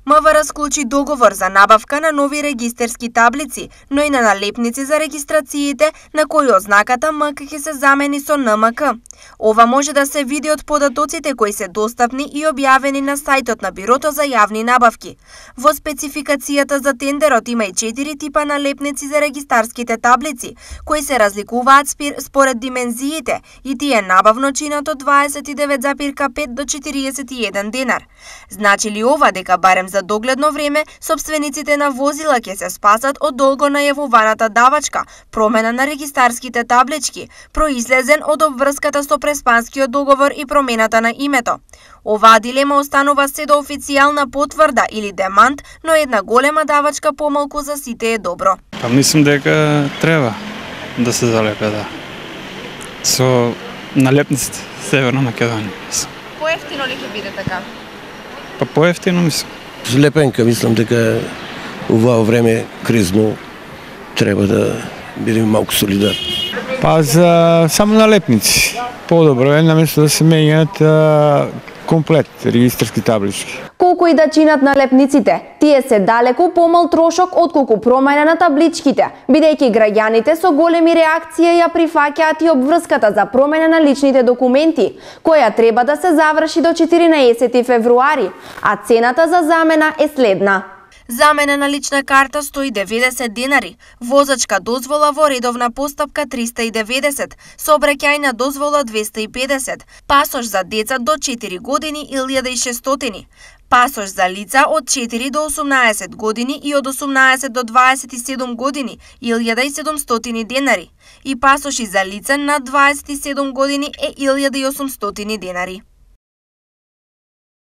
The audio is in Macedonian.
МВР склучи договор за набавка на нови регистерски таблици, но и на налепници за регистрациите на кои ознаката МК ќе се замени со НМК. Ова може да се види од податоците кои се достапни и објавени на сајтот на Бирото за јавни набавки. Во спецификацијата за тендерот има и 4 типа налепници за регистарските таблици, кои се разликуваат според димензиите и тие набавно чинат од 29,5 до 41 денар. Значи ли ова дека барем за догледно време сопствениците на возила ќе се спасат од долго најавуваната давачка, промена на регистарските таблички, произлезен од обврската со преспанскиот договор и промената на името. Оваа дилема останува се до официјална потврда или демант, но една голема давачка помалку за сите е добро. Па мислам дека треба да се залепе, да. Со налепниците Северна Македонија. Поевтино ли ќе биде така? Па поевтино мислам. Лепенка, мислам дека ова време кризно треба да бидеме малку солидарни. Па за само налепници. Подобро е наместо да се менјат комплет регистарски таблички. Колку и да чинат налепниците, тие се далеку помал трошок отколку промена на табличките, бидејќи граѓаните со големи реакции ја прифаќаат и обврската за промена на личните документи, која треба да се заврши до 14 февруари, а цената за замена е следна. Замена на лична карта 190 денари, возачка дозвола во редовна постапка 390, сообраќајна дозвола 250, пасош за деца до 4 години 1600, пасош за лица од 4 до 18 години и од 18 до 27 години 1700 денари и пасоши за лица над 27 години е 1800 денари.